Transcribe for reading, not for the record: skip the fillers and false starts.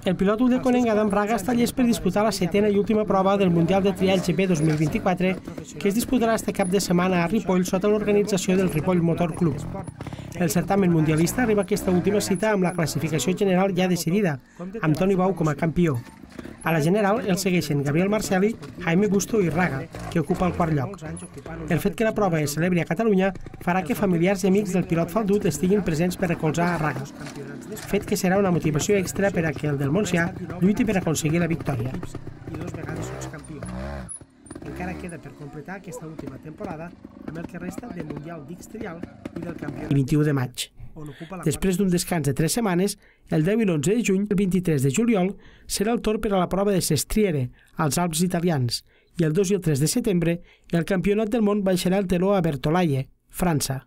El pilot ulldecone Adam Fraga està llest per disputar la setena i última prova del Mundial de Trial GP 2024, que es disputarà este cap de setmana a Ripoll sota l'organització del Ripoll Motor Club. El certamen mundialista arriba a aquesta última cita amb la classificació general ja decidida, amb Toni Bou com a campió. A la general el segueixen Gabriel Marcelli, Jaime Busto i Raga, que ocupa el quart lloc. El fet que la prova es celebri a Catalunya farà que familiars i amics del pilot faldut estiguin presents per recolzar a Raga, fet que serà una motivació extra per a que el del Montsià lluiti per aconseguir la victòria. Encara queda per completar aquesta última temporada amb el que resta del Mundial d'X-Trial i del Campionat 21 de maig. Després d'un descans de 3 setmanes, el 10 i l'11 de juny, el 23 de juliol, serà el torn per a la prova de Sestriere, als Alps italians, i el 2 i el 3 de setembre, el Campionat del món baixarà el teló a Bertolaye, França.